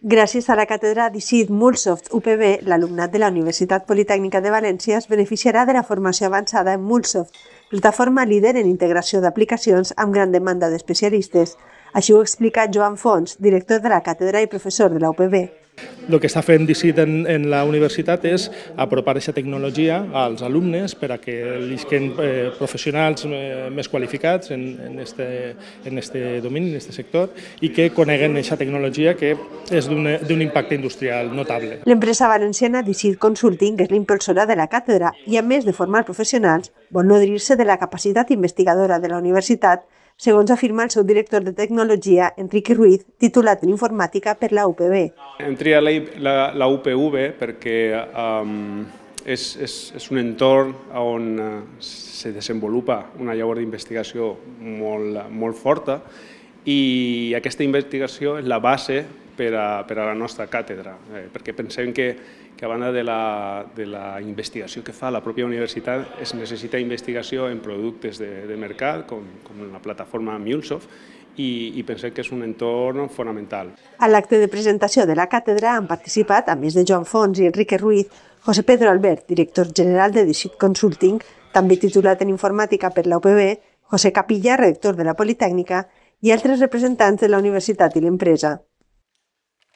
Gràcies a la càtedra DICIT MuleSoft UPB, l'alumnat de la Universitat Politècnica de València es beneficiarà de la formació avançada en MuleSoft, plataforma líder en integració d'aplicacions amb gran demanda d'especialistes. Així ho explica Joan Fons, director de la càtedra i professor de la UPB. El que està fent DICIT en la universitat és apropar aquesta tecnologia als alumnes per a que elisquen professionals més qualificats en este domini, en este sector, i que coneguen aquesta tecnologia que és d'un impacte industrial notable. L'empresa valenciana DICIT Consulting és l'impulsora de la càtedra i, a més de formar professionals, vol nodrir-se de la capacitat investigadora de la universitat, segons afirma el seu director de tecnologia, Enrique Ruiz, titulat en informàtica per la UPB. Hem triat la UPV perquè és un entorn on se desenvolupa una llavor d'investigació molt forta i aquesta investigació és la base per a la nostra càtedra, perquè pensem que a banda de la investigació que fa la pròpia universitat es necessita investigació en productes de mercat, com la plataforma MuleSoft, i pensem que és un entorn fonamental. A l'acte de presentació de la càtedra han participat, a més de Joan Fons i Enrique Ruiz, José Pedro Albert, director general de DICIT Consulting, també titulat en informàtica per la UPB, José Capilla, rector de la Politècnica, i altres representants de la universitat i l'empresa.